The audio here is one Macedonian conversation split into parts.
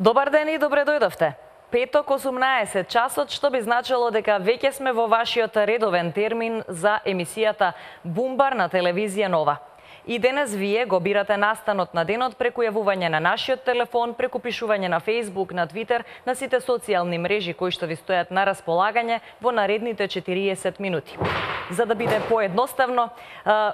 Добар ден и добре дојдовте. Петок 18 часот, што би значило дека веќе сме во вашиот редовен термин за емисијата Бумбар на телевизија Нова. И денес вие го бирате настанот на денот преку јавување на нашиот телефон, преку пишување на Facebook, на Twitter, на сите социјални мрежи кои што ви стојат на располагање во наредните 40 минути. За да биде поедноставно,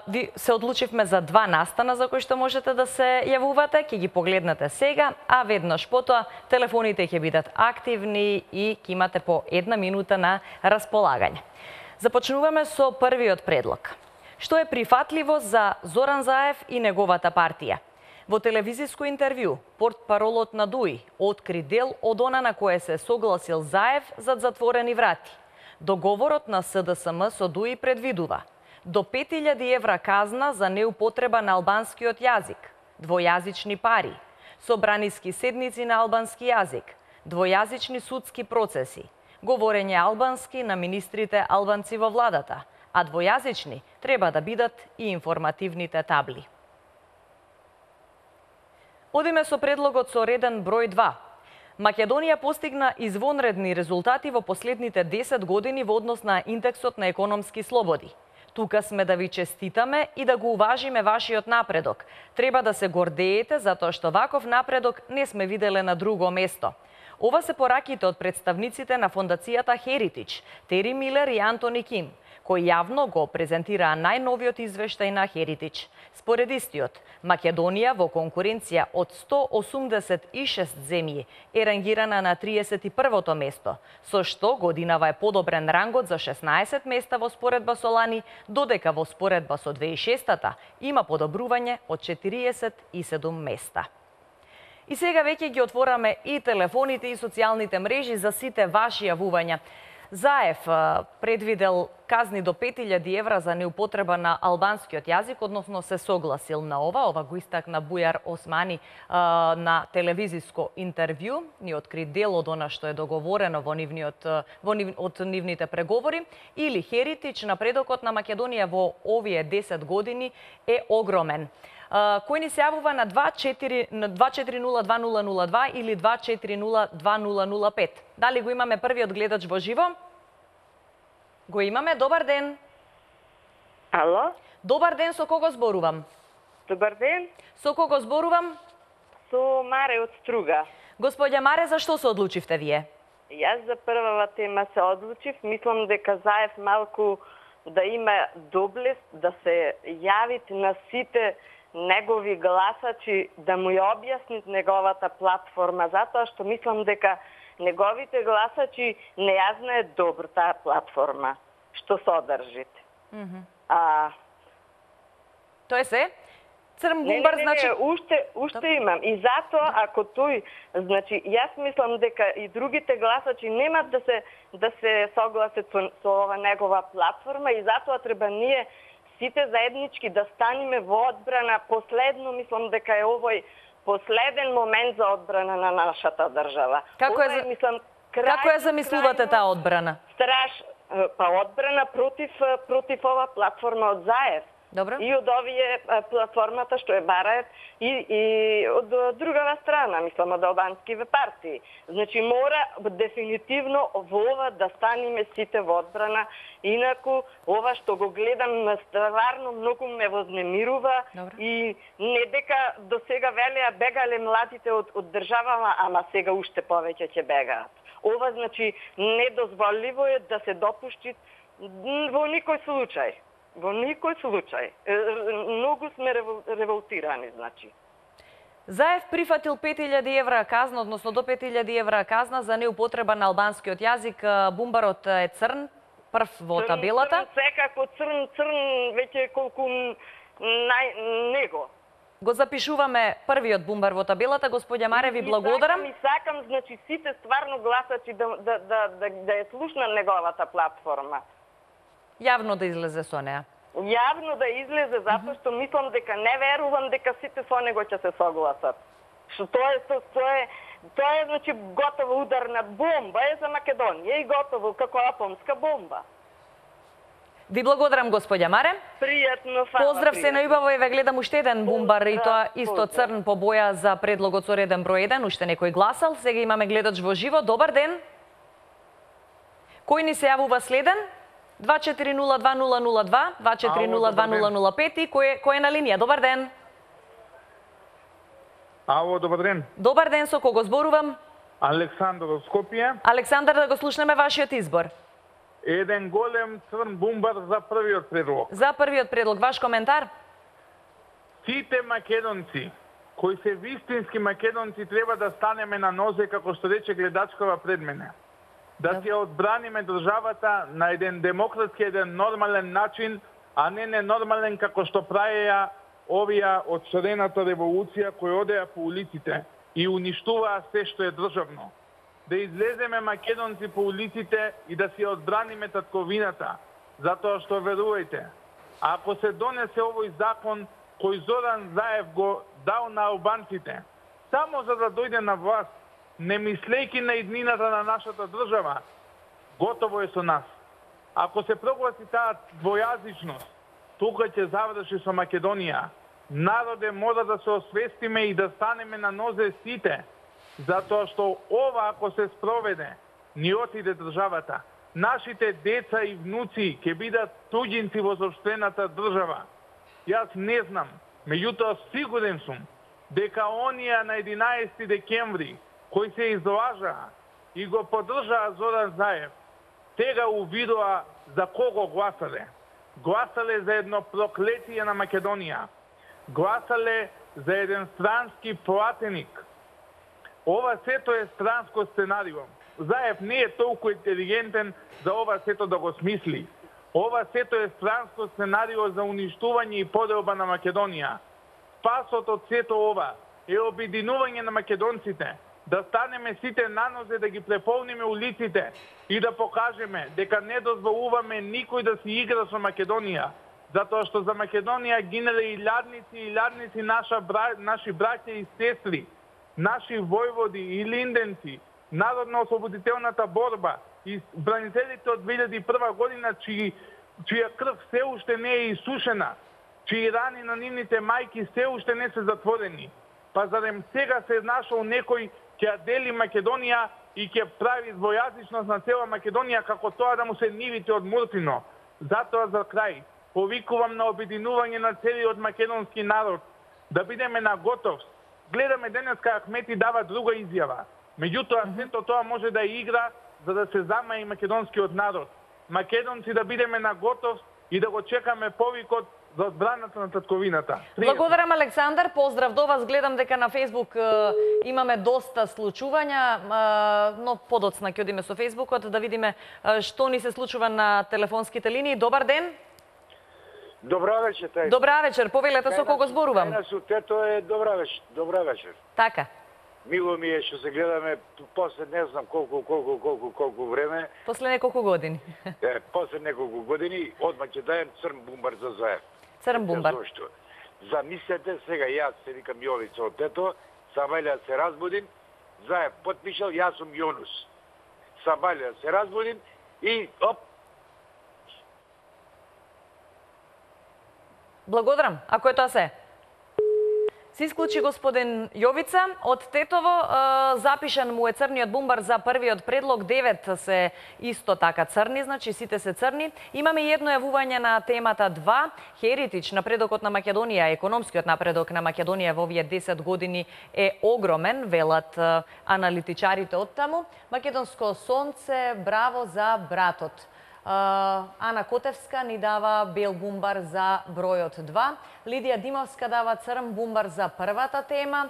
ви се одлучивме за два настана за кои што можете да се јавувате, ќе ги погледнете сега, а веднаш потоа телефоните ќе бидат активни и ќе имате по една минута на располагање. Започнуваме со првиот предлог. Што е прифатливо за Зоран Заев и неговата партија? Во телевизиско интервју, портпаролот на ДУИ откри дел од она на кое се согласил Заев зад затворени врати. Договорот на СДСМ со ДУИ предвидува до 5000 евра казна за неупотреба на албанскиот јазик, двојазични пари, собраниски седници на албански јазик, двојазични судски процеси, говорење албански на министрите албанци во владата, а двојазични треба да бидат и информативните табли. Одиме со предлогот со реден број 2. Македонија постигна извонредни резултати во последните 10 години во однос на индексот на економски слободи. Тука сме да ви честитаме и да го уважиме вашиот напредок. Треба да се гордеете затоа што ваков напредок не сме виделе на друго место. Ова се пораките од представниците на фондацијата Heritage, Тери Милер и Антони Ким, кои јавно го презентираа најновиот извештај на Heritage. Според истиот, Македонија во конкуренција од 186 земји е рангирана на 31-то место, со што годинава е подобрен рангот за 16 места во споредба со лани, додека во споредба со 2006-та има подобрување од 47 места. И сега веќе ги отвораме и телефоните и социјалните мрежи за сите ваши јавувања. Заев предвидел казни до 5000 евра за неупотреба на албанскиот јазик, односно се согласил на ова го истакна Бујар Османи на телевизиско интервју, ни откри дел од она што е договорено од нивните преговори, или Heritage, напредокот на Македонија во овие 10 години е огромен. Кој ни се јавува на 2402002 или 2402005. Дали го имаме првиот гледач во живо? Го имаме. Добар ден. Ало? Добар ден, со кого зборувам? Добар ден. Со кого зборувам? Со Маре од Струга. Господја Маре, зашто се одлучивте вие? Јас за првава тема се одлучив. Мислам дека Заев малку да има доблест да се јавите на сите негови гласачи, да му ја објаснит неговата платформа, затоа што мислам дека неговите гласачи не ја знаат добро таа платформа, што содржите. Тоа е се? Црн Бумбар, значи... Уште имам. И затоа, ако тој, значи, јас мислам дека и другите гласачи немат да се согласат со ова негова платформа и затоа треба ние сите заеднички да станеме во одбрана. Последно, мислам дека е овој последен момент за одбрана на нашата држава. Како ја замислувате таа одбрана? Одбрана против ова платформа од Заев. Добро. И од овие платформата што е бараат и од другава страна, мислам од албанскиве партии. Значи мора дефинитивно во ова да станеме сите во одбрана, инаку ова што го гледам стварно многу ме вознемирува. Добро. И не дека до сега велеа бегале младите од државава, ама сега уште повеќе ќе бегаат. Ова значи недозволиво е да се допушти во никој случај. Во никој случај. Многу сме револтирани, значи. Заев прифатил 5000 евра казна, односно до 5000 евра казна за неупотреба на албанскиот јазик. Бумбарот е црн, прв во табелата. Секако црн, веќе колку него. Го запишуваме првиот бумбар во табелата. Господја Маре, ви благодарам. И сакам, значи, сите стварно гласачи да ја слушнат неговата платформа. Јавно да излезе со неа. Јавно да излезе, затоа што мислам дека не верувам дека сите со него ќе се согласат. Што тоа е значи готово ударна бомба е за Македонија и готово како атомска бомба. Ви благодарам, господја Маре. Пријатно, фала. Поздрав се на убаво, еве гледам уште еден бумбар и тоа исто црн по боја за предлогот со реден број 1, уште некој гласал. Сега имаме гледач во живо. Добар ден. Кој ни се јавува следен? 2402-002, 2402-005 и кој е на линија? Добар ден. Ало, добар ден. Добар ден, со кого зборувам? Александар од Скопје. Александар, да го слушнеме вашиот избор. Еден голем црн бумбар за првиот предлог. За првиот предлог, ваш коментар? Сите македонци, кои се вистински македонци, треба да станеме на нозе, како што рече гледачкова пред мене. Да ќе одбраниме државата на еден демократски, еден нормален начин, а не ненормален како што праеја овие од шарената револуција кои одеа по улиците и уништуваа се што е државно. Да излеземе македонци по улиците и да си одбраниме татковината, затоа што верувајте, ако се донесе овој закон кој Зоран Заев го дал на албанците, само за да дојде на власт, не мислејќи на иднината на нашата држава, готово е со нас. Ако се прогласи таа двојазичност, тука ќе заврши со Македонија. Народе, мора да се освестиме и да станеме на нозе сите, затоа што ова, ако се спроведе, ни отиде државата. Нашите деца и внуци ќе бидат туѓинци во сопствената држава. Јас не знам, меѓутоа сигурен сум дека оние на 11 декември кои се излажаа и го поддржаа Зоран Заев, тега увидоа за кого гласале. Гласале за едно проклетие на Македонија. Гласале за еден странски платеник. Ова сето е странско сценарио. Заев не е толку интелигентен за ова сето да го смисли. Ова сето е странско сценарио за уништување и поделба на Македонија. Спасот од сето ова е обединување на македонците, да станеме сите на нозе, да ги преполниме улиците и да покажеме дека не дозволуваме никој да си игра со Македонија, затоа што за Македонија гинале илјадници наши браќа и сестри, наши војводи и линденци, народно-ослободителната борба и бранителите од 2001 година, чија крв се уште не е исушена, чии рани на нивните мајки се уште не се затворени. Па зарем сега се нашол некој ќе дели Македонија и ќе прави двојазичност на цела Македонија, како тоа да му се нивите од Муртино. Затоа за крај повикувам на обединување на целиот македонски народ, да бидеме на готовност. Гледаме денеска Ахмети дава друга изјава. Меѓутоа, сето тоа може да игра за да се замаи македонскиот народ. Македонци да бидеме на готовност и да го чекаме повикот за одбраната на татковината. Благодарам, Александар. Поздрав до вас. Гледам дека на Фейсбук имаме доста случувања, но подоцна ќе одиме со Фейсбукот да видиме што ни се случува на телефонските линии. Добар ден. Добра вечер, тај. Добра вечер. Повелете со кого зборувам? Тајна сутето е добра вечер. Добра вечер. Така. Мило ми е што се гледаме после не знам колку време. После неколку години. После неколку години одма ќе даjem црн бумбар за Заев. Црн бумбар. Зошто? Замислете сега, јас се викам Јовица од тето, сабајле се разбудим, Заев потпишал, јас сум Јонус. Сабајле се разбудим и оп. Благодарам. Ако е тоа се. Се исклучи господин Јовица. Од Тетово запишан му е црниот бумбар за првиот предлог. 9 се исто така црни, значи сите се црни. Имаме и едно јавување на темата 2. Херитич, напредокот на Македонија, економскиот напредок на Македонија во овие 10 години е огромен, велат аналитичарите од таму. Македонско сонце, браво за братот. Ана Котевска ни дава бел бумбар за бројот 2. Лидија Димовска дава црн бумбар за првата тема.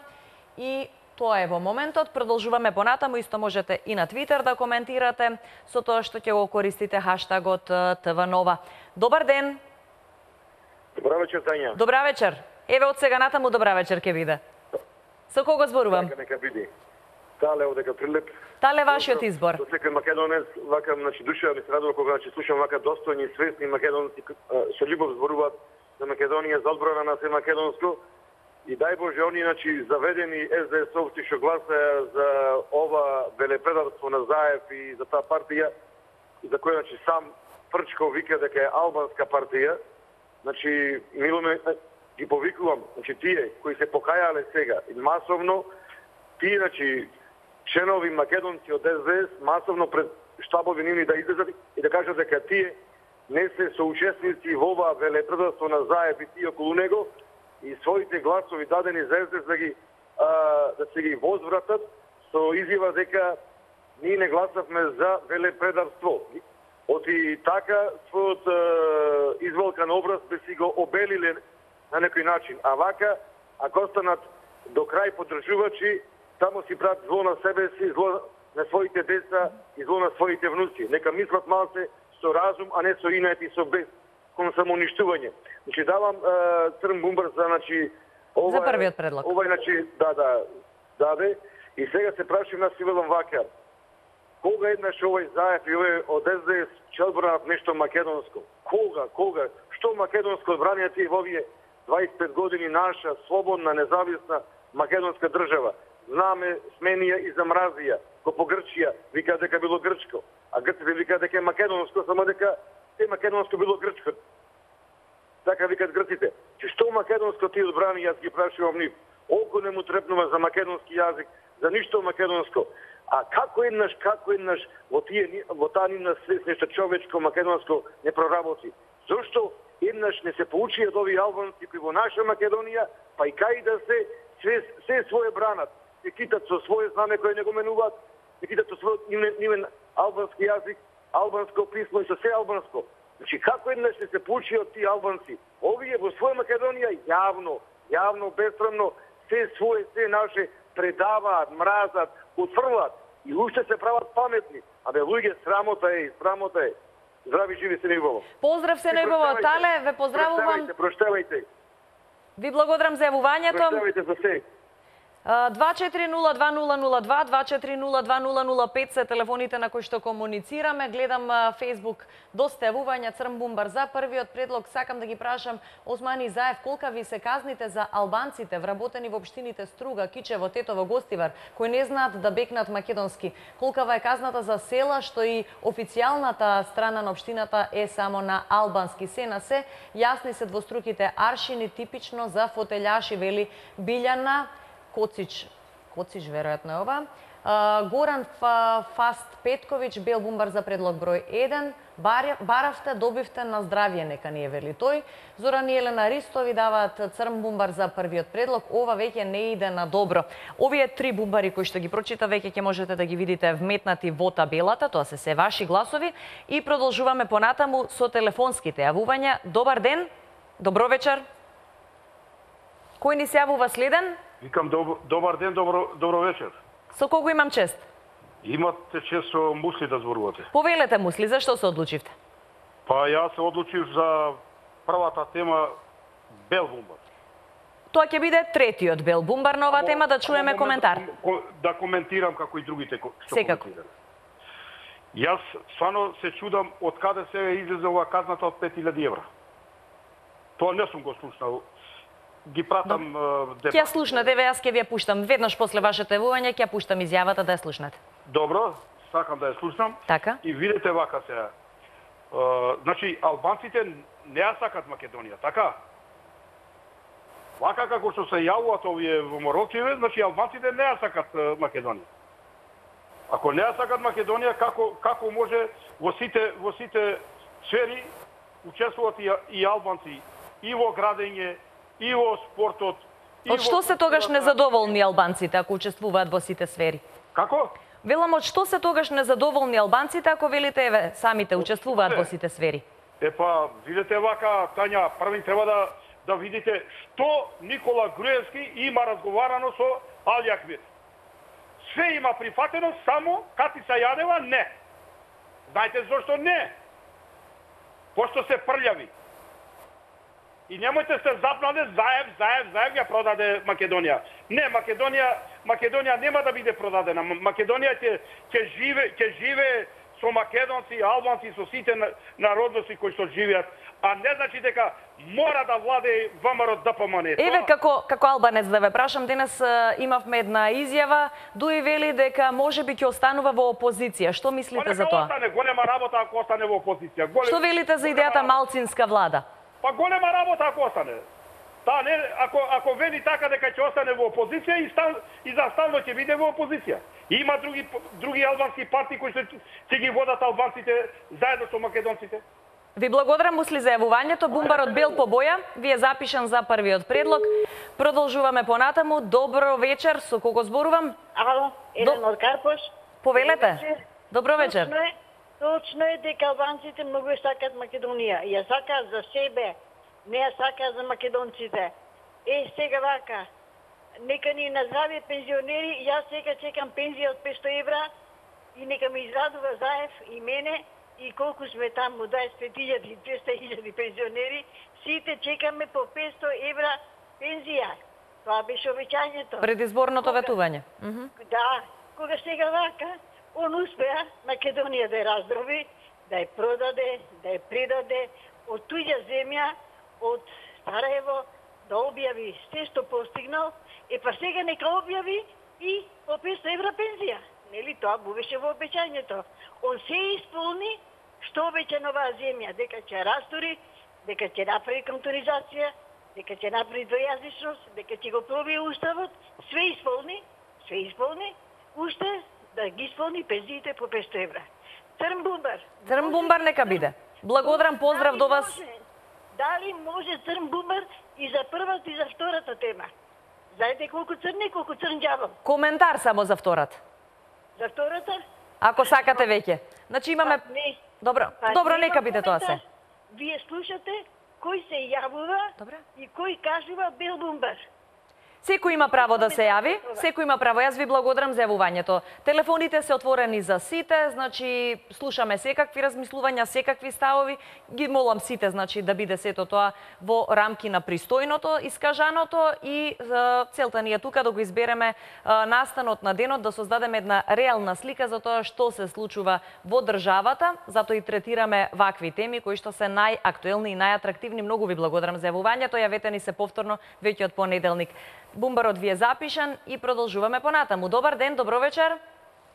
И тоа е во моментот. Продолжуваме понатаму. Исто можете и на Твитер да коментирате со тоа што ќе го користите хаштагот ТВ-нова. Добар ден. Добра вечер, Тања. Добра вечер. Еве од сега натаму добра вечер ќе биде. Со кого зборувам? Нека биде. Тале одека Прилеп. Тале вашиот избор. Со секој македонец, вака, душа ми се радува кога слушам вака достојни и свесни македонци со љубов зборуваат за Македонија, за одбрана на се македонско. И дај Боже, они, заведени СДС-овци што гласаја за ова велепредавство на Заев и за таа партија, за која, сам Прчко вика дека е албанска партија, значи миломе ги повикувам, значи тие кои се покајале сега и масовно, тие значи членови македонци од СДС масовно пред штабови нивни да излезат и да кажат дека тие не се соучесници во ова велепредавство на ЗАЕП и тие околу него и своите гласови дадени за СДС да се ги возвратат со изјава дека ние не гласавме за велепредавство. Оти така својот изволкан образ би си го обелиле на некој начин. А вака, ако останат до крај поддржувачи, само си прават зло на себе си, зло на своите деца и зло на своите внуци. Нека мислат малце со разум, а не со инет и со без кон самоуништување. Значи давам црн бумбар за ова, за првиот предлог. Ова даде и сега се прашувам нас и велам вака. Кога еднаш овој ЗАЕП и овој од СДС ќе одбранат нешто македонско? Кога? Што македонско одбранија тие во овие 25 години наша слободна, независна македонска држава? Знаме сменија и замразија. Ко по Грчија вика дека било грчко, а грците вика дека е македонско, само дека е македонско било грчко. Така викат грците. Че што македонско ти одбрани, јас ги прашувам нив. Око не му трепнува за македонски јазик, за ништо македонско. А како еднаш во таа нивна свест нешто човечко македонско не проработи? Зошто еднаш не се поучи од овие албанци кои во наша Македонија, па и кај да се свое бранат, се китат со свое знаме кое не го менуваат, се китат со својот нивен албански јазик, албанско писмо и со се албанско. Значи како еднаш не се поучи од тие албанци? Овие во своја Македонија јавно, бесрамно, се свое, се наше предаваат, мразат, отфрлат и уште се прават паметни. Абе, луѓе, срамота е. Здрави, живи се Нејубово. Поздрав се Нејубово, Тале, ве поздравувам. Проштевајте. Ви благодарам за јавувањето. Проштевајте за се. 2402002, 2402005 се телефоните на кои што комуницираме. Гледам Facebook доста јавувања, црн бумбар за првиот предлог. Сакам да ги прашам Османи Заев, колка ви се казните за албанците вработени во општините Струга, Кичево, Тетово, Гостивар, кои не знаат да бекнат македонски? Колкава е казната за села што и официјалната страна на општината е само на албански? Се на се, јасни се двоструките аршини, типично за фотелјаши, вели Билјана Коцич веројатно е ова. Горан Фаст Петковиќ, бел бумбар за предлог број 1. Баравте, добивте на здравје, нека не е, вели тој. Зоран и Елена Ристови даваат црн бумбар за првиот предлог. Ова веќе не иде на добро. Овие три бумбари кои што ги прочита веќе ќе можете да ги видите вметнати во табелата, тоа се ваши гласови. И продолжуваме понатаму со телефонските јавувања. Добар ден, добро вечер. Кој ни се јавува следен? Викам добар ден, добро вечер. Со кого имам чест? Имате чест со Мусли да зборувате. Повелете, Мусли, зашто се одлучивте? Па јас се одлучив за првата тема бел бумбар. Тоа ќе биде третиот бел бумбар на оваа тема, да чуеме коментар. Да коментирам како и другите што секако коментирам. Јас стварно се чудам од каде се излезе ова казната од 5000 евра. Тоа не сум го слушнал. Ги пратам Ќе ја слушнете, јас ќе ви ја пуштам. Веднаш после вашето јавување ќе ја пуштам изјавата да ја слушнете. Добро, сакам да ја слушнам. Така. И видите вака сега. Значи, албанците не ја сакат Македонија, така? Вака како што се јавуваат овие во Морокчеве, значи албанците не ја сакат Македонија. Ако не ја сакат Македонија, како може во сите сфери учествуваат и албанци и во градење, и во спортот. Од што се тогаш незадоволни албанците ако учествуваат во сите сфери? Како? Велам, од што се тогаш незадоволни албанците ако велите еве самите учествуваат во сите сфери? Епа, видите вака, Тања, први треба да видите што Никола Груевски има разговарано со Али Ахмед. Све има прифатено, само Катица Јадева не. Знаете зошто не? Пошто се прљави. И немојте се запнаде, Заев ја продаде Македонија. Не, Македонија нема да биде продадена. Македонија ќе живее со македонци, албанци, со сите народности кои што живеат, а не значи дека мора да владее ВМРО ДПМН. Еве како албанец да ве прашам, денес имавме една изјава, Дуи вели дека можеби ќе останува во опозиција. Што мислите за тоа? Остане, голема работа ако остане во опозиција. Што велите за идејата малцинска влада? Па голема работа ако остане. Та не, ако вели така дека ќе остане во опозиција и за стално ќе биде во опозиција. Има други албански партии кои ќе ги водат албанците заедно со македонците. Ви благодарам, Мусли, за јавувањето. Бумбарот бел по боја. Ви е запишан за првиот предлог. Продолжуваме понатаму. Добро вечер. Со кого зборувам? Ало, Еленор Карпош. Повелете. Добро вечер. Точно е дека албанците многу сакаат Македонија. Ја сакаат за себе, не ја сакаат за македонците. Сега вака, нека ни наздравје пензионери, јас сега чекам пензија од 500 евра и нека ме израдува Заев и мене и колку сме таму, 25.000, 200.000 пензионери, сите чекаме по 500 евра пензија. Тоа беше обеќањето. Предизборното ветување. Да, кога сега вака, он успеа Македонија да ја раздроби, да ја продаде, да ја предаде од туѓа земја, од Сараево, да објави се што постигнал, па сега нека објави и по 500 евра пензија. Нели тоа беше во обеќањето. Он се исполни што обеќа на оваа земја, дека ќе растори, дека ќе направи кантонизација, дека ќе направи двојазичност, дека ќе го пробие уставот, све исполни, уште да ги исполни пензиите по 500 евра. Црн бумбар. Црн бумбар нека биде. Благодарам, поздрав до вас. Дали може црн бумбар и за првата и за втората тема? Знаете колку црн е, колку црн ѓавол? Коментар само за втората. За втората? Ако сакате веќе. Значи имаме... Добро, нека биде тоа се. Вие слушате кој се јавува и кој кажува бел бумбар. Секој има право да се јави, секој има право. Јас ви благодарам за јавувањето. Телефоните се отворени за сите, значи слушаме секакви размислувања, секакви ставови. Ги молам сите, значи да биде сето тоа во рамки на пристојното, искажаното и целта ни е тука да го избереме настанот на денот, да создадеме една реална слика за тоа што се случува во државата, затоа и третираме вакви теми кои што се најактуелни и најатрактивни. Многу ви благодарам за јавувањето. Јавете ни се повторно веќе од понеделник. Бумбарот ви е запишан и продолжуваме понатаму. Добар ден, добро вечер.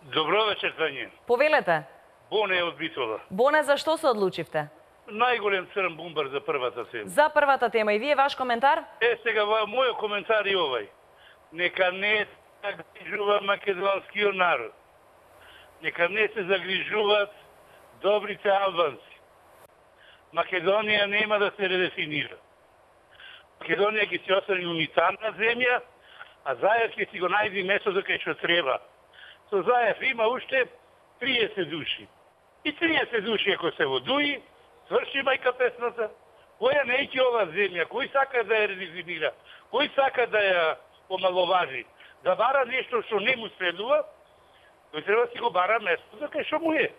Добро вечер, Тања. Повелете. Боне од Битола. Боне, за што се одлучивте? Најголем црн бумбар за првата тема. За првата тема. И вие ваш коментар? Сега мојот коментар е овај. Нека не се загрижува македонскиот народ. Нека не се загрижуваат добрите албанци. Македонија нема да се редефинира. Македонија ќе се остане унитарна земја, а Заев ќе си го најди местото кај што треба. Со Заев има уште 30 души. И 30 души ако се во Дуи, сврши мајка песната. Која неќе ова земја? Кој сака да ја редефинира? Кој сака да ја омаловажи? Да бара нешто што не му следува, тој треба да си го бара местото кај што му е.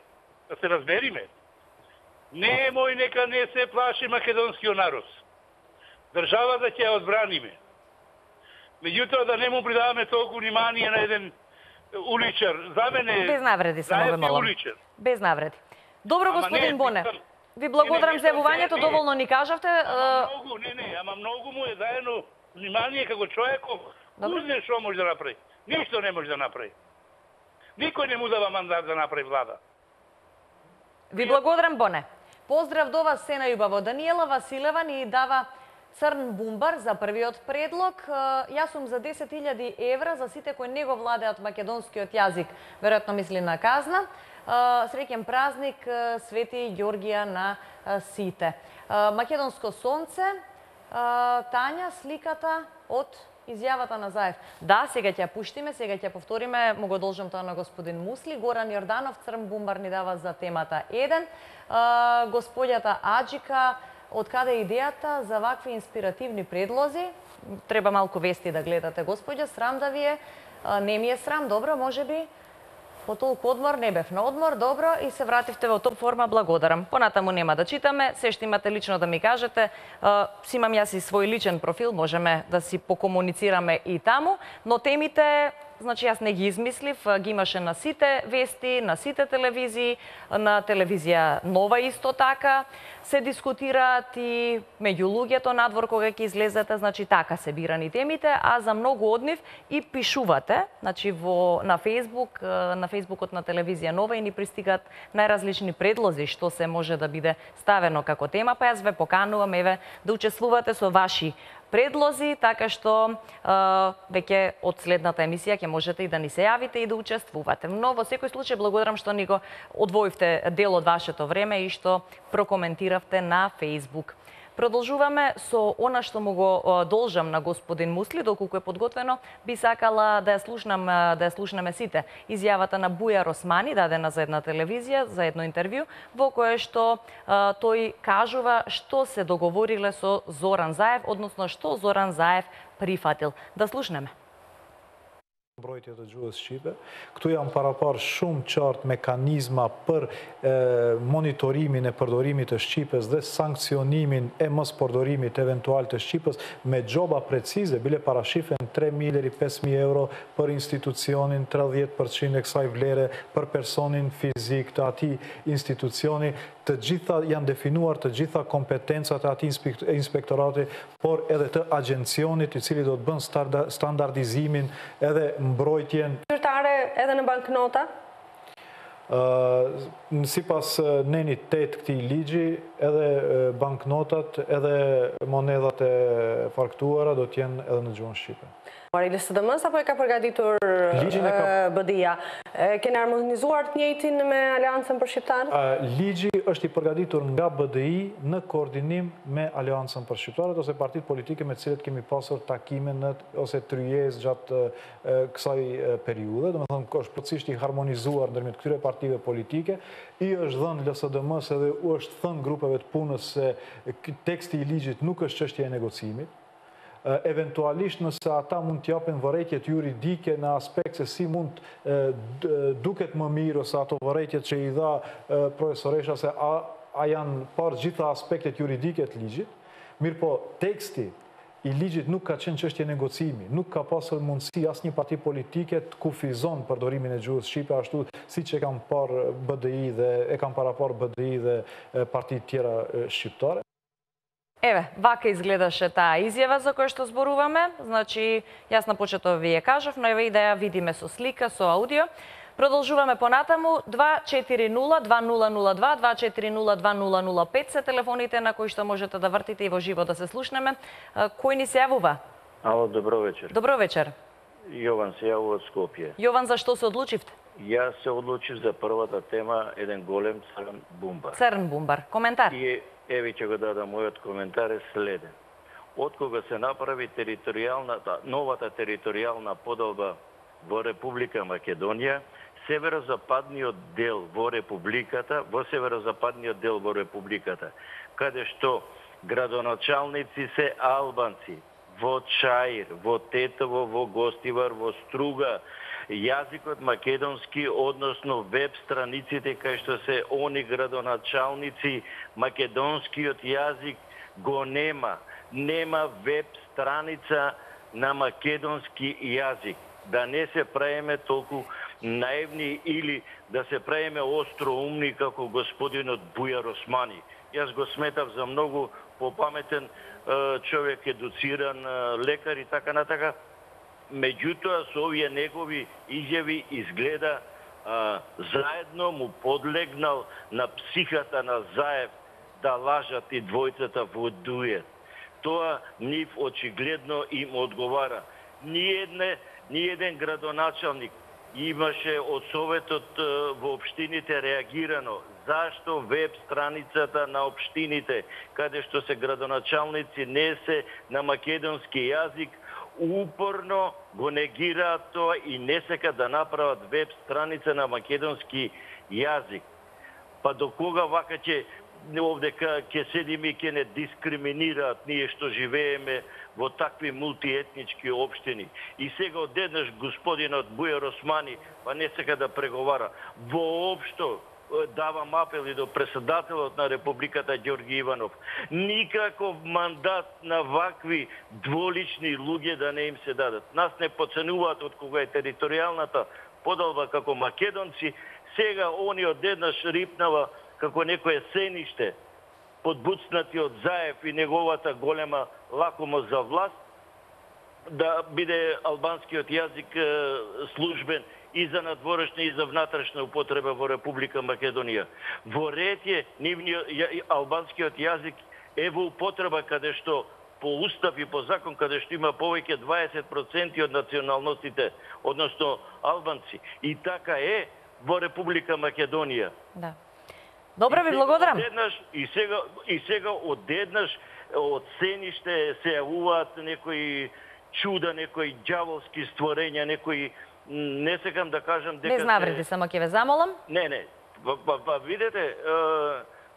Да се разбериме. Немој нека не се плаши македонскиот народ. Државата ќе ја одбраниме. Меѓутоа да не му придаваме толку внимание на еден уличар. За мене без навреди само ве молам. Без навреди. Добро, господин Боне. Ви благодарам за јавувањето, доволно ни кажавте. Ама многу му е даено внимание како човеков. Узне што може да направи. Ништо не може да направи. Никој не му дава мандат да направи влада. Ви благодарам, Боне. Поздрав до вас, се најубаво. Даниела Василева ни дава црн бумбар за првиот предлог. Јас сум за 10.000 евра за сите кои не го владеат македонскиот јазик. Веројатно мисли на казна. Среќен празник, Свети Ѓоргија на сите. Македонско сонце, Тања, сликата од изјавата на Заев. Да, сега ќе ја пуштиме, сега ќе ја повториме, му го должам тоа на господин Мусли. Горан Јорданов, црн бумбар ни дава за темата 1. Господјата Аџика, од каде е идејата за вакви инспиративни предлози? Треба малку вести да гледате, господја, срам да ви е. Не ми е срам, добро, може би. По толку одмор не бев на одмор, добро, и се вративте во топ форма, благодарам. Понатаму нема да читаме, се што имате лично да ми кажете. Си имам јас и свој личен профил, можеме да си покомуницираме и таму, но темите значи јас не ги измислив, ги имаше на сите вести, на сите телевизии, на телевизија Нова исто така, се дискутираат и меѓу луѓето надвор кога ќе излезете, значи така се бирани темите, а за многу од нив и пишувате, значи на Facebook, на Фејсбукот на телевизија Нова и ни пристигаат најразлични предлози што се може да биде ставено како тема, па јас ве поканувам еве да учествувате со ваши предлози, така што веќе од следната емисија ќе можете и да ни се јавите и да учествувате. Но во секој случај благодарам што ни го одвоивте дел од вашето време и што прокоментиравте на Facebook. Продолжуваме со она што му го должам на господин Мусли, доколку е подготвено, би сакала да ја слушнеме сите изјавата на Бујар Османи, дадена за една телевизија, за едно интервју, во кое што тој кажува што се договориле со Зоран Заев, односно што Зоран Заев прифатил. Да слушнеме. Mbrojtjet e gjuhës shqipe. Këtu janë parapar shumë qartë mekanizma për monitorimin e përdorimit të shqipes dhe sankcionimin e mos përdorimit eventual të shqipes me gjoba precize, bile parashifen 3.000 deri 5.000 euro për institucionin, 30% e kësaj vlere për personin fizik të ati institucioni. Të gjitha janë definuar të gjitha kompetencat e ati inspektorati, por edhe të agencionit i cili do të bën standardizimin edhe mbrojtjen. Zyrtare edhe në banknota? Sipas nenit 8 këtij ligji, edhe banknotat, edhe monedat e faktuara do të jenë edhe në gjuhën shqipe. I LSDM-s apo e ka përgatitur BDI-a? Keni harmonizuar të njëjtin me Aleancën për Shqiptarët? Ligji është i përgatitur nga BDI në koordinim me Aleancën për Shqiptarët ose partitë politike me të cilët kemi pasur takime ose tryezë gjatë kësaj periudhe. Domethënë është plotësisht i harmonizuar ndërmjet këtyre partive politike. I është dhënë LSDM-s edhe u është thënë grupeve të punës se teksti i ligjit nuk është çështje e negocimit. Eventualisht nëse ata mund të japin vërejtjet juridike në aspekt se si mund duket më mirë ose ato vërejtjet që i dha profesoresha se a janë parë gjitha aspektet juridike të ligjit, mirë po teksti i ligjit nuk ka qenë çështje negocimi, nuk ka pasur mundësi asnjë parti politike të kufizon përdorimin e gjuhës shqipe ashtu siç e kanë parë BDI dhe e kanë paraparë BDI dhe partitë tjera shqiptare. Еве, вака изгледаше таа изјава за која што зборуваме. Значи, јас на почетот ви ја кажав, но еве и да ја видиме со слика, со аудио. Продолжуваме понатаму. 240-2002, 240-2005 се телефоните на кои што можете да вртите и во живо да се слушнеме. Кој ни се јавува? Ало, добро вечер. Добро вечер. Јован се јавува од Скопје. Јован, за што се одлучивте? Јас се одлучив за првата тема, еден голем црн бумбар. Црн бумбар. Коментар? И еве ќе го дадам, мојот коментар е следен. Откога се направи новата територијална поделба во Република Македонија, северозападниот дел во северозападниот дел во Републиката, каде што градоначалници се албанци, во Чаир, во Тетово, во Гостивар, во Струга, јазикот македонски, односно веб страниците кај што се они градоначалници, македонскиот јазик го нема. Нема веб страница на македонски јазик. Да не се правиме толку наивни или да се правиме остроумни како господинот Бујар Османи. Јас го сметав за многу попаметен човек, едуциран лекар и така натака. Меѓутоа, со овие негови изјави изгледа заедно му подлегнал на психата на Заев да лажат и двојцата во дует. Тоа нив очигледно им одговара. Ни еден градоначалник имаше од Советот во општините реагирано. Зашто веб страницата на општините, каде што се градоначалници не се на македонски јазик, упорно го негираат тоа и не сека да направат веб страница на македонски јазик. Па до кога вака овде ќе седиме и ќе не дискриминираат ние што живееме во такви мултиетнички општини. И сега одеднаш господинот Бујар Османи па не сека да преговара. Воопшто давам апел и до председателот на Републиката Ѓорги Иванов. Никаков мандат на вакви дволични луѓе да не им се дадат. Нас не подценуваат од кога е територијалната подалба како македонци, сега они одеднаш рипнава како некое сениште, подбуцнати од Заев и неговата голема лакомост за власт, да биде албанскиот јазик службен и за надворешна и за внатрешна употреба во Република Македонија. Во ред е албанскиот јазик е во употреба каде што по устав и по закон каде што има повеќе 20% од националностите, односно албанци. И така е во Република Македонија. Да. Добро ви благодарам. И сега одеднаш од сениште се јавуваат некои чуда, некои ѓаволски створења, некои не сакам да кажам дека без навреди, само ќе ве замолам. Не. Видете,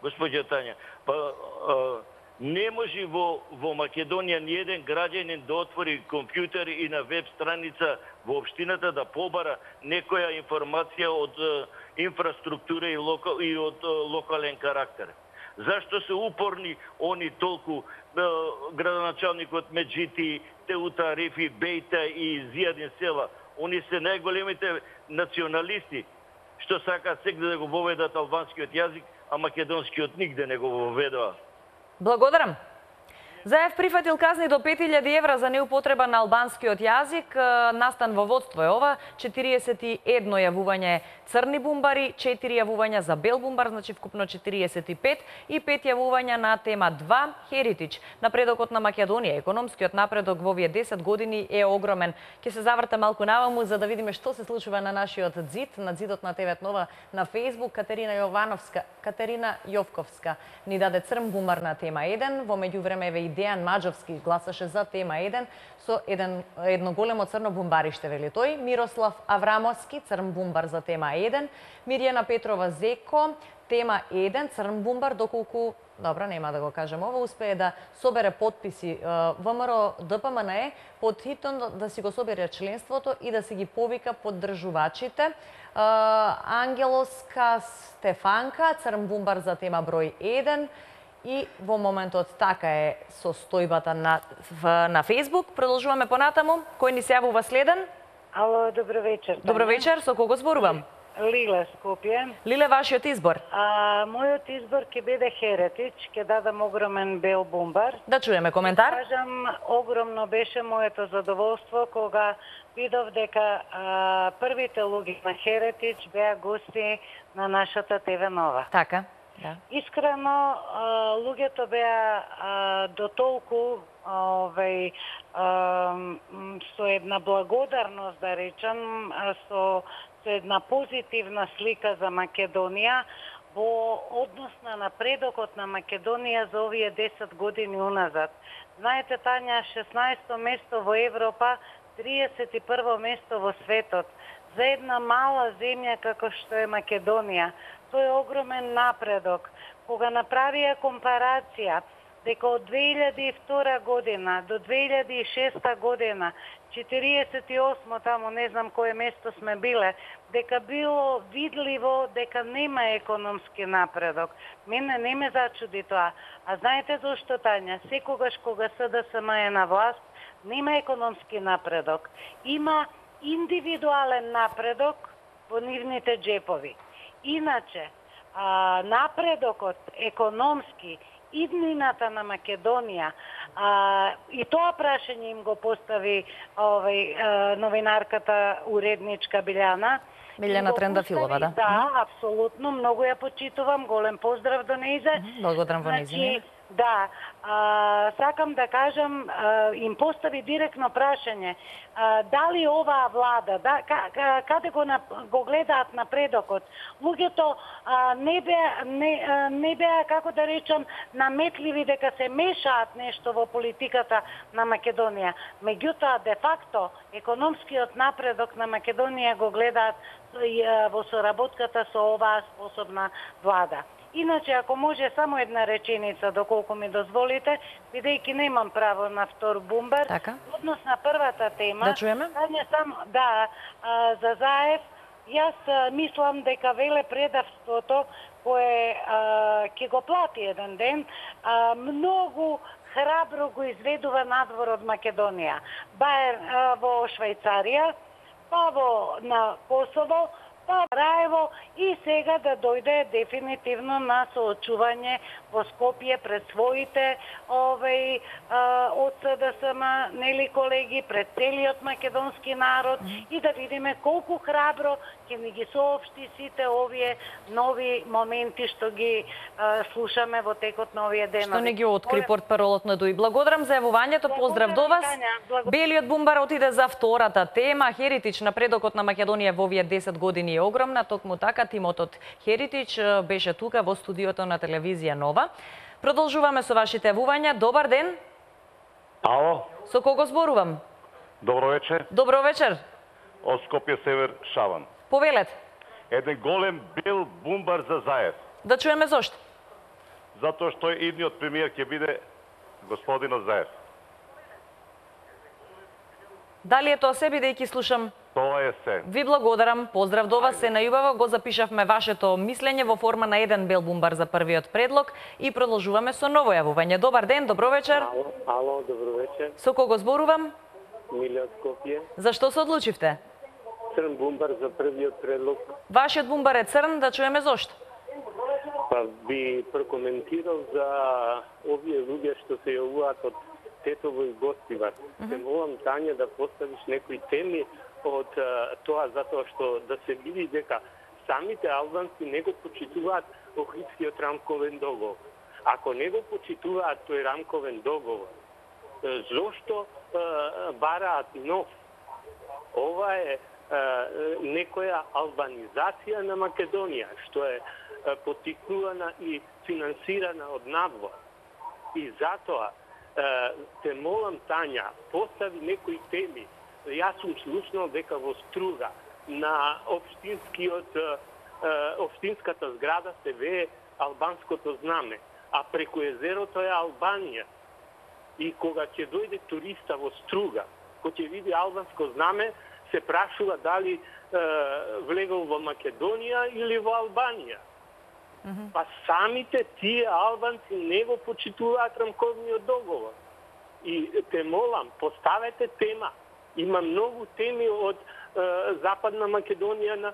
госпоѓа Тања, не може во Македонија ни еден граѓанин да отвори компјутер и на веб страница во општината да побара некоја информација од инфраструктура и од локален карактер. Зашто се упорни они толку градоначалникот Меджити, Теута Арифи, Бејта и Зијадин Села? Они се најголемите националисти што сакаат сегде да го воведат албанскиот јазик, а македонскиот нигде не го воведува. Благодарам. Заев прифатил казни до 5000 евра за неупотреба на албанскиот јазик. Настан во водство е ова. 41 јавување црни бумбари, 4 јавувања за бел бумбар, значи вкупно 45 и 5 јавувања на тема 2 Херитич. Напредокот на Македонија, економскиот напредок во овие 10 години е огромен. Ќе се заврта малку наваму за да видиме што се случува на нашиот зид, на зидот на ТВ Нова на Facebook. Катерина Јовковска ни даде црн бумбар на тема 1. Во меѓувреме Дејан Маџовски гласаше за тема 1 со едно големо црно бумбариште, вели тој. Мирослав Аврамовски, црн бумбар за тема 1. Мирјана Петрова Зеко, тема 1, црн бумбар, доколку, добра, нема да го кажем ова, успее да собере подписи ВМРО ДПМНЕ, под хитно да си го собере членството и да си ги повика поддржувачите. Ангелоска Стефанка, црн бумбар за тема број 1. И во моментот така е состојбата на Facebook. Продолжуваме понатаму. Кој ни се јавува следен? Ало, добро вечер. Добро вечер, со кого зборувам? Лиле, Скопје. Лиле, вашиот избор? Мојот избор ќе биде Херетич, ќе дадам огромен бел бумбар. Да чуеме коментар. Кажам, огромно беше моето задоволство кога видов дека првите луѓе на Херетич беа гости на нашата ТВ Нова. Така. Да. Искрено, луѓето беа до толку со една благодарност, да речам, со една позитивна слика за Македонија во однос на напредокот на Македонија за овие 10 години уназад. Знаете, Тања, 16-то место во Европа, 31-во место во светот. За една мала земја како што е Македонија, тој е огромен напредок. Кога направија компарација дека од 2002 година до 2006 година, 48 таму не знам кое место сме биле, дека било видливо дека нема економски напредок. Мене не ме зачуди тоа. А знаете зошто, Тања? Секогаш кога СДСМ е на власт, нема економски напредок. Има индивидуален напредок во нивните джепови. Иначе, напредокот економски, иднината на Македонија, и тоа прашање им го постави новинарката уредничка Билјана Трендафилова, да. Да, апсолутно, многу ја почитувам, голем поздрав до нејзе. Благодарам во нејзе. Да, сакам да кажам, им постави директно прашање, дали оваа влада, каде го гледаат напредокот? Луѓето не беа, како да речам, наметливи дека се мешаат нешто во политиката на Македонија. Меѓутоа, де факто, економскиот напредок на Македонија го гледаат во соработката со оваа способна влада. Иначе, ако може само една реченица, доколку ми дозволите, бидејќи немам право на втор бумбар, однос на првата тема, да чуеме? за Заев Јас мислам дека велепредавството кое ќе го плати еден ден, многу храбро го изведува надвор од Македонија. Ба во Швајцарија, па на Косово, па Раево и сега да дојде дефинитивно на соочување во Скопје пред своите од СДСМ, нели колеги, пред целиот македонски народ и да видиме колку храбро ќе ни ги соопшти сите овие нови моменти што ги слушаме во текот на овие денови. Што не ги откри портпаролот на ДУИ. Благодарам за јавувањето, поздрав до вас. Белиот бумбар отиде за втората тема. Херитич, напредокот на Македонија во овие 10 години е огромна, токму така тимот Херитич беше тука во студиото на телевизија Нова. Продолжуваме со вашите јавувања. Добар ден. Ало. Со кого зборувам? Добро вечер. Добро вечер. Од Скопје Север, Шаван. Повелете. Еден голем бел бумбар за Заев. Да чуеме зошто? Затоа што идниот премиер ќе биде господинот Заев. Дали е тоа се, бидејќи слушам? Тоа е се. Ви благодарам, поздрав до вас, се најубаво, го запишавме вашето мислење во форма на еден бел бумбар за првиот предлог и продолжуваме со ново јавување. Добар ден, добро вечер. Ало, добро вечер. Со кого зборувам? Миле од Скопје. Зашто се одлучивте? Црн бумбар за првиот предлог. Вашиот бумбар е црн, да чуеме зошто? Па би прокоментирал за овие луѓе што се јавуваат од Тетово и Гостивар. Се молам, Тања, да поставиш некои теми од тоа, затоа што да се види дека самите албанци не го почитуваат Охридскиот рамковен договор. Ако не го почитуваат тој рамковен договор, зошто бараат нов? Ова е некоја албанизација на Македонија, што е поттикнувана и финансирана од надвор. И затоа те молам, Тања, постави некои теми. Јас сум слушнал дека во Струга на општинската зграда се вее албанското знаме, а преку езерото е Албанија. И кога ќе дојде туриста во Струга, кој ќе види албанско знаме, се прашува дали влегол во Македонија или во Албанија. Па самите тие албанци не го почитуваат рамковниот договор. И те молам, поставете тема. Има многу теми од Западна Македонија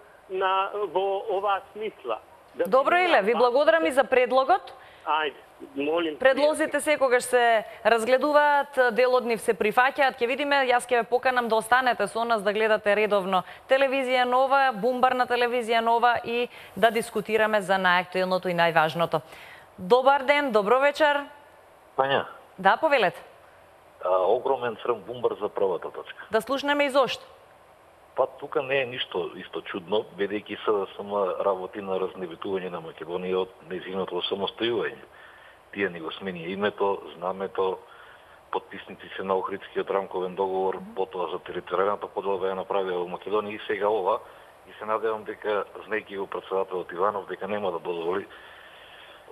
во оваа смисла. Добро, Иле, ви благодарам и за предлогот. Ајде, молим. Предлозите секогаш се разгледуваат, дел од нив се прифаќаат. Ќе видиме, јас ќе ве поканам да останете со нас, да гледате редовно телевизија Нова, бумбар на телевизија Нова и да дискутираме за најактуелното и најважното. Добар ден, добро вечер. Тања. Да, повелете. Огромен црн бумбар за првата точка. Да слушнеме и зошто? Па тука не е ништо исто чудно, бидејќи СДСМ работи на разнебитување на Македонија од нејзиното самостојување. Тие ни го смени името, знамето, потписници се на Охридскиот рамковен договор, потоа за територијалната подела ја направија во Македонија и сега ова. И се надевам дека, знаејќи го председателот Иванов, дека нема да дозволи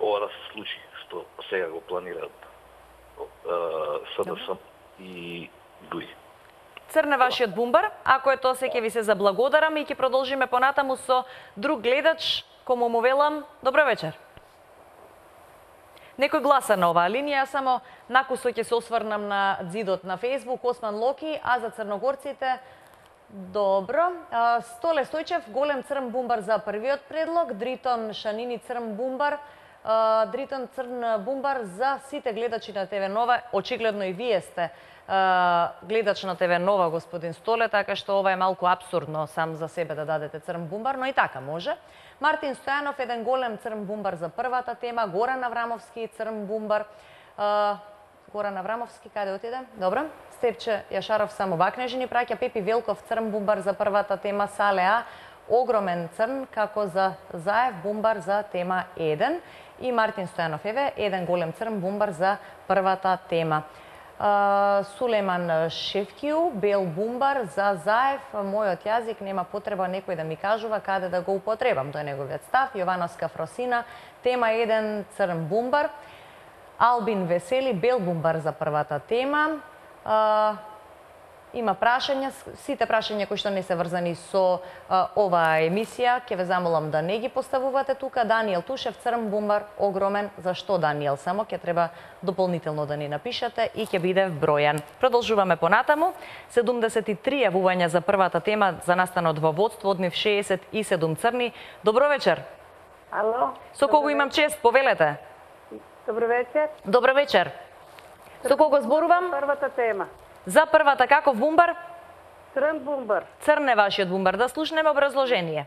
ова да се случи, што сега го планираат СДСМ и ДУИ. Црне вашиот бумбар, ако е тоа се ќе ви се заблагодарам и ќе продолжиме понатаму со друг гледач, кому му велам добро вечер. Некој гласа на оваа линија, само накусо ќе се осврнам на ѕидот на Facebook, Осман Локи, а за црногорците добро. Столе Стојчев, голем црн бумбар за првиот предлог, Дритон Шанини црн бумбар, Дритон црн бумбар за сите гледачи на ТВ Нова. Очигледно и вие сте гледач на ТВ Нова, господин Столе, така што ова е малку абсурдно сам за себе да дадете црн бумбар, но и така може. Мартин Стојанов, еден голем црн бумбар за првата тема, Горан Аврамовски црн бумбар. Горан Аврамовски, каде отиде? Добро. Степче Јашаров само вакнежи ни праќа. Пепи Велков црн бумбар за првата тема, Салеа огромен црн како за Заев бумбар за тема 1 и Мартин Стојанов еве еден голем црн бумбар за првата тема. Сулейман Шевкиу, бел бумбар за Заев, мојот јазик нема потреба некој да ми кажува каде да го употребам, тоа е неговиот став. Јовановска Фросина, тема 1 црн бумбар. Албин Весели, бел бумбар за првата тема. има прашања, сите прашања кои што не се врзани со оваа емисија, ќе ве замолам да не ги поставувате тука. Даниел Тушев, црн бумбар, огромен. Зашто Даниел? Само ќе треба дополнително да ни напишете и ќе биде вбројан. Продолжуваме понатаму. 73 јавувања за првата тема за настанот во водство, од нив 67 црни. Добро вечер. Ало. Со кого имам чест? Повелете. Добро вечер. Добро вечер. Со кого зборувам? Првата тема. За првата каков бумбар? Црн бумбар. Црн е вашиот бумбар. Да слушнеме образложение.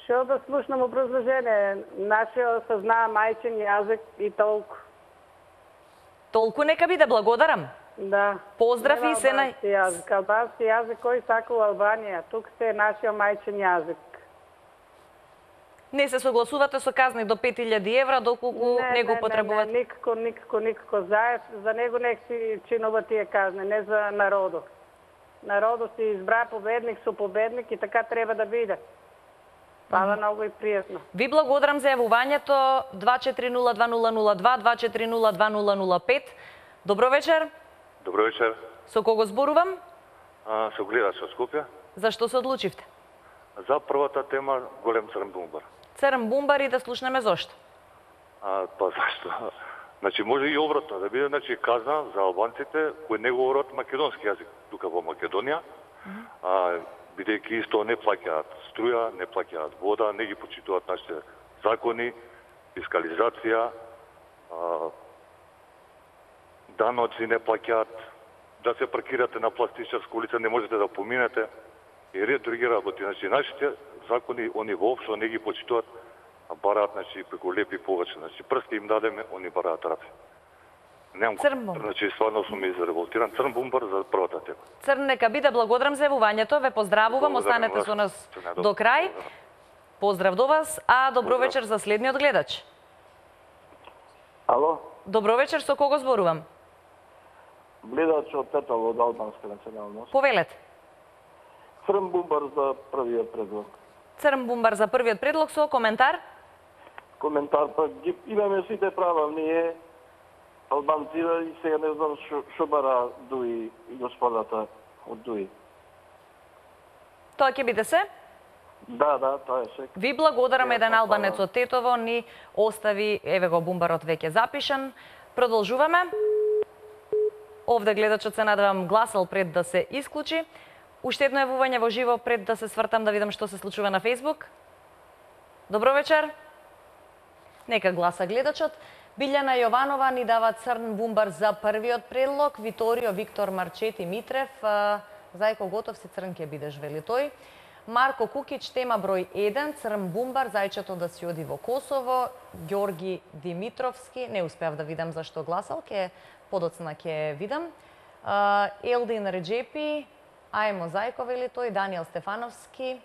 Што да слушнам образложение? Нашиот се знае мајчин јазик и толку. Толку нека биде, благодарам. Да. Поздрав и се на... Албански јазик, кој сака у Албанија. Тук се нашиот мајчин јазик. Не се согласувате со казни до 5000 евра, доколку не го потребувате? Не, никако. За него нек си чинува тие казни, не за народот. Народот си избра победник со победник и така треба да биде. Фала многу и пријатно. Ви благодарам за јавувањето. 24020002, 24020005. Добро вечер. Добро вечер. Со кого зборувам? Со гледач од Скопје. Зашто се одлучивте? За првата тема голем црн бумбар. Црн бумбар и да слушнеме зошто? Па зашто? Значи може и обратно да биде, значи казна за албанците кои не говорат македонски јазик тука во Македонија, бидејќи исто не плаќаат струја, не плаќаат вода, не ги почитуваат нашите закони, фискализација, даноци не плаќаат, да се паркирате на пластичарска улица не можете да поминете и ред други работи. Значи нашите закони они воопшто не ги почитуваат, а бараат значи преку лепи повеќе. Значи прсти им дадеме, они бараат раци. Немам. Значи стварно сум изреволтиран. Црн бумбар за првата тема. Црн нека биде, благодарам за јавувањето. Ве поздравувам, останете со нас до крај. Поздрав до вас, а добро вечер за следниот гледач. Ало. Добро вечер, со кого зборувам? Гледач од Тетово од албанска националност. Повелете. Црн бумбар за првиот предлог. Црн бумбар за првиот предлог со коментар? Коментар, па ги имаме сите права, ние албанци и сега не знам што бара Дуи и господата од Дуи. Тоа ќе биде се? Да, тоа е се. Ви благодарам, еден албанец од Тетово ни остави, еве го бумбарот веќе запишан. Продолжуваме. Овде гледачот се надевам гласал пред да се исклучи. Уште едно јавување во живо пред да се свртам да видам што се случува на Facebook. Добро вечер. Нека гласа гледачот. Билјана Јованова ни дава црн бумбар за првиот предлог. Виторио Виктор Марчети Митрев. Зајко готов си, црн ќе бидеш, вели тој. Марко Кукич, тема број 1, црн бумбар, зајчето да си оди во Косово. Ѓорги Димитровски, не успеав да видам зашто гласал, подоцна ќе видам. Елдин Реджепи, Ајмо Зајко, вели тој. Даниел Стефановски,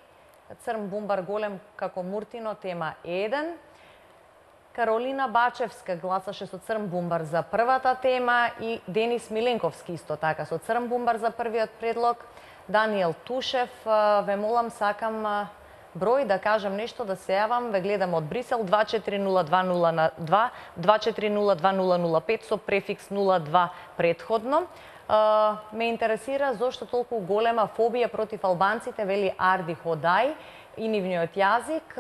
црн бумбар голем како Муртино, тема 1. Каролина Бачевска гласаше со црн бумбар за првата тема и Денис Миленковски исто така со црн бумбар за првиот предлог. Даниел Тушев, ве молам, сакам број да кажам нешто, да се јавам, ве гледам од Брисел, 240202, 24020005 со префикс 02 предходно. Ме интересира зошто толку голема фобија против албанците, вели Арди Ходај и нивниот јазик.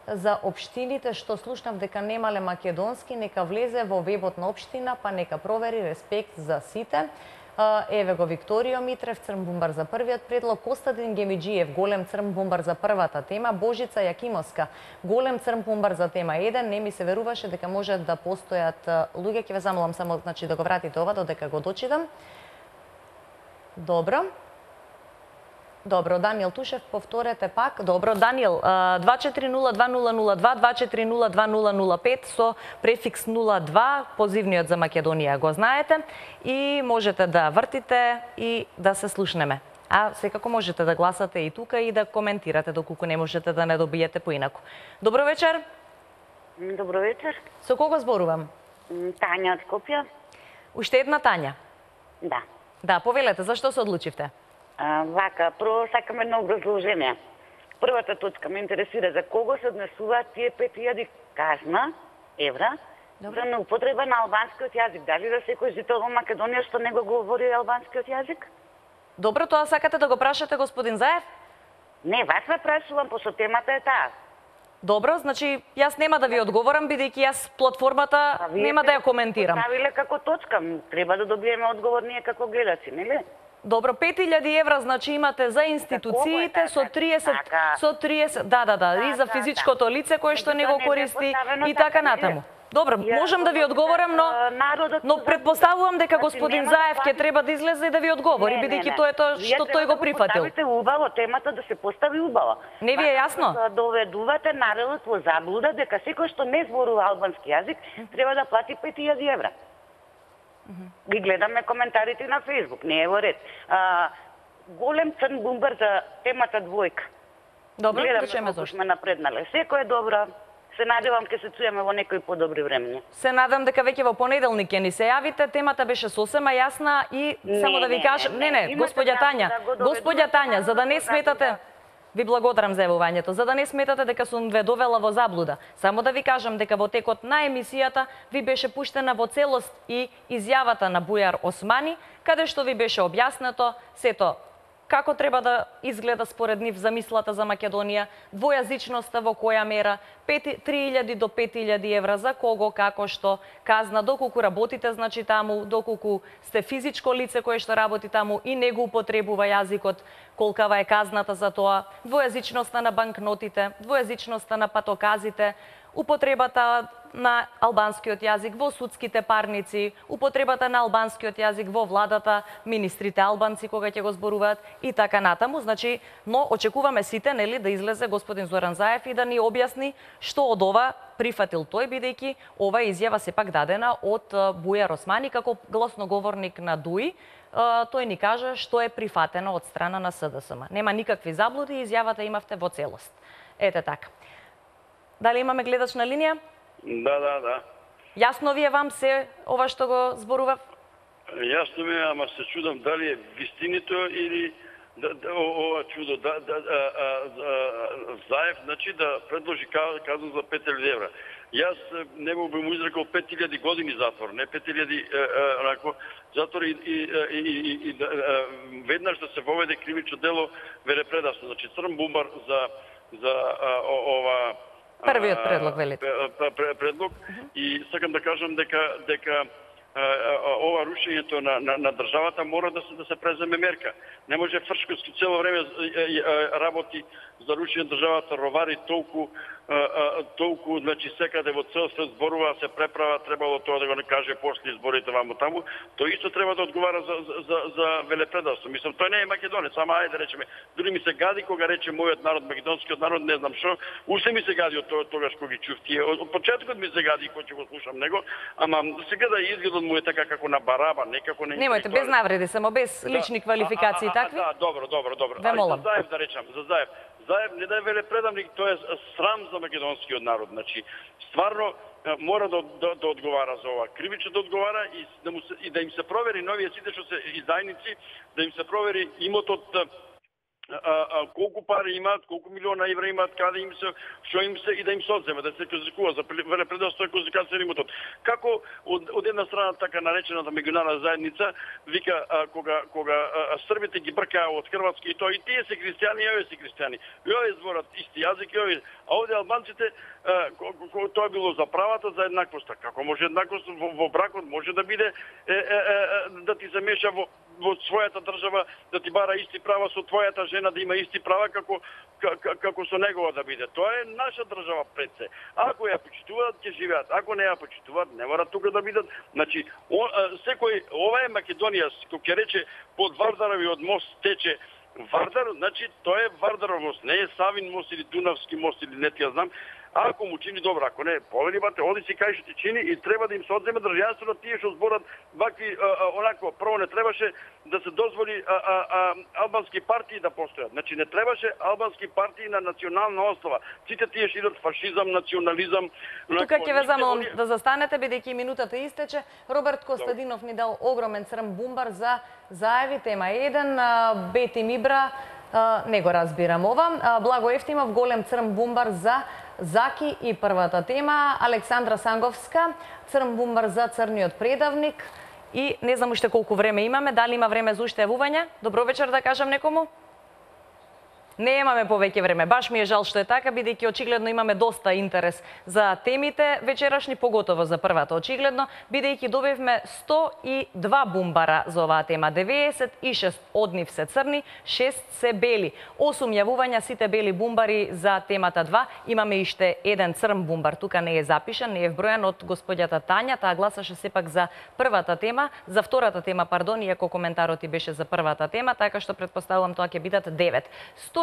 За општините што слушнав дека немале македонски, нека влезе во вебот на општина, па нека провери, респект за сите. Еве го Викторио Митрев, црн бумбар за првиот предлог. Костадин Гемиджиев, голем црн бумбар за првата тема. Божица Јакимовска, голем црн бумбар за тема 1. Не ми се веруваше дека може да постојат луѓе. Ќе ве замолам само да го вратите ова додека го дочитам. Добро. Добро, Даниел Тушев, повторете пак. Добро, Даниел, 24020002, 24020005 со префикс 02, позивниот за Македонија го знаете и можете да вртите и да се слушнеме. А секако можете да гласате и тука и да коментирате доколку не можете да не добиете поинаку. Добро вечер. Добро вечер. Со кого зборувам? Тања од Скопје. Уште една Тања? Да. Да, повелете, зашто се одлучивте? Вака, прво сакам едно образложение. Првата точка ме интересира за кого се однесуваат тие 5000 казна евра За неупотреба на албанскиот јазик. Дали за секој жител во Македонија што не го говори албанскиот јазик? Добро, тоа сакате да го прашате господин Заев? Не, вас ме прашувам, пошто темата е таа. Добро, значи јас нема да ви одговорам, бидејќи јас платформата нема да ја коментирам. Ставиле како точка, треба да добиеме одговор ние како гледачи, нели? Добро, 5000 евра значи имате за институциите со 30 да, и за физичкото лице кое што не го користи и така натаму. Добро, можам да ви одговорам, но предпоставувам дека господин Заев ќе треба да излезе и да ви одговори, бидејќи тоа е тоа што тој го прифатил. Вие убаво темата да се постави убаво. Не ви е јасно? Да доведувате народот во заблуда дека секој што не зборува албански јазик треба да плати 5000 евра. Ги гледаме коментарите на Фејсбук, не е во ред. Голем црн бумбар за темата двојка. Добро, да чуеме зошто. Сме напреднале. Секој е добро. Се надевам ќе се чуеме во некои подобри времења. Се надам дека веќе во понеделник ќе ни се јавите. Темата беше сосема јасна и само да ви кажам, господја Тања, за да не сметате, ви благодарам за јавувањето, за да не сметате дека сум ве довела во заблуда. Само да ви кажам дека во текот на емисијата ви беше пуштена во целост и изјавата на Бујар Османи, каде што ви беше објаснето сето како треба да изгледа според нив замислата за Македонија, двојазичноста во која мера, 3000 до 5000 евра за кого, како што, казна, доколку работите, значи таму, доколку сте физичко лице кое што работи таму и не го употребува јазикот, колкава е казната за тоа, двојазичноста на банкнотите, двојазичноста на патоказите, употребата на албанскиот јазик во судските парници, употребата на албанскиот јазик во владата, министрите албанци кога ќе го зборуваат и така натаму. Значи, но очекуваме сите, нели, да излезе господин Зоран Заев и да ни објасни што од ова прифатил тој, бидејќи ова изјава сепак дадена од Бујар Османи како гласноговорник на ДУИ. Тој ни кажа што е прифатено од страна на СДСМ. Нема никакви заблуди, изјавата имавте во целост. Ете така. Дали имаме гледач на линија? Да. Јасно ви е вам се ова што го зборував? Јасно ми е, ама се чудам дали е вистинито или ова чудо. Заев, значи да предложи казна за 5000 евра. Јас не би му изрекол 5000 години затвор, не 5000 затвор и веднаш да се воведе кривично дело велепредавство. Значи црн бумбар за ова првиот предлог, велите. Предлог и сакам да кажам дека ова рушењето на државата мора да се преземе мерка. Не може Фршковски цело време работи за рушење државата, ровари толку, значи секаде во цел свет зборува, се преправа, требало тоа да го не каже после изборите ваму таму. Тој исто треба да одговара за велепредавство. Мислам, тој не е македонец, ама ајде речеме, дури ми се гади кога рече мојот народ, македонскиот народ, не знам што, уште ми се гади од тогаш кога ги чув тие. Од почетокот ми се гади кога ќе го слушам него, ама сега да изгледот му е така како на бараба, некако не. Немојте без навреди, само без лични квалификации такви. Да, добро. Ве молам. За Заев да речам, за Заев. Заев не да е велепредавник, тоа е срам за македонскиот народ. Значи, стварно мора да одговара за ова. Кривично да одговара и да им се провери новие сите што се издајници, да им се провери имотот, колку пари имаат, колку милиона евра имаат, каде им се, што им се и да им се одземе, да се казикува за велепредавство и казикација на имотот. Како од една страна така наречената меѓународна заедница вика кога србите ги бркаа од Хрватска и тоа и тие се христијани, и овие се христијани. И овие зборат исти јазик и овие. А овде албанците тоа било за правата, за еднаквоста. Како може еднаквост во бракот може да биде да ти се меша во својата држава, да ти бара исти права со твојата жена, да има исти права како со негова да биде. Тоа е наша држава пред се. Ако ја почитуваат, ќе живеат. Ако не ја почитуваат, не мора тука да бидат. Значи, секој, ова е Македонија, кој ќе рече под Вардаровиот мост тече Вардар, значи тоа е Вардаров мост, не е Савин мост или Дунавски мост или не ти ја знам. Ако му чини добро, ако не, повели бате, оди си кај што ти чини и треба да им се одземе државството тие што зборат вакви онакво. Прво не требаше да се дозволи албански партии да постојат. Значи не требаше албански партии на национална основа. Сите тие што идат фашизам, национализам. Тука ќе ве замолам да застанете бидејќи минутата истече. Роберт Костадинов ни дал огромен црн бумбар за Заеви, тема 1, Бети Мибра, не го разбирам ова. Благо Ефтимов голем црн бумбар за Заки и првата тема, Александра Санговска, црн бумбар за црниот предавник. И не знам уште колку време имаме, дали има време за уште јавување? Добро вечер да кажам некому? Не имаме повеќе време. Баш ми е жал што е така, бидејќи очигледно имаме доста интерес за темите вечерашни, поготово за првата очигледно, бидејќи добивме 102 бумбара за оваа тема. 96 од нив се црни, 6 се бели. 8 јавувања, сите бели бумбари за темата 2. Имаме иште еден црн бумбар, тука не е запишан, не е вбројан од господјата Тања, таа гласаше сепак за првата тема, за втората тема, пардон, иако коментарот и беше за првата тема, така што претпоставувам тоа ќе бидат 9. 102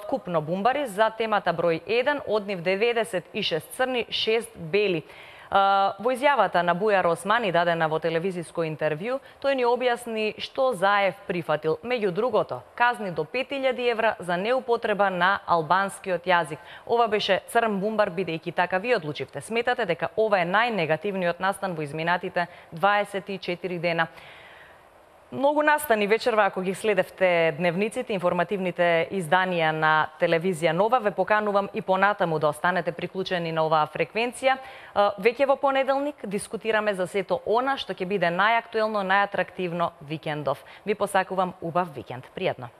вкупно бумбари за темата број 1, од нив 96 црни, 6 бели. Во изјавата на Бујар Османи, дадена во телевизиско интервју, тој ни објасни што Заев прифатил. Меѓу другото, казни до 5000 евра за неупотреба на албанскиот јазик. Ова беше црн бумбар, бидејќи така ви одлучивте. Сметате дека ова е најнегативниот настан во изминатите 24 дена. Многу настани вечерва, ако ги следевте дневниците, информативните изданија на телевизија Нова, ве поканувам и понатаму да останете приклучени на оваа фреквенција. Веќе во понеделник дискутираме за сето она што ќе биде најактуелно, најатрактивно викендов. Ви посакувам убав викенд. Пријатно!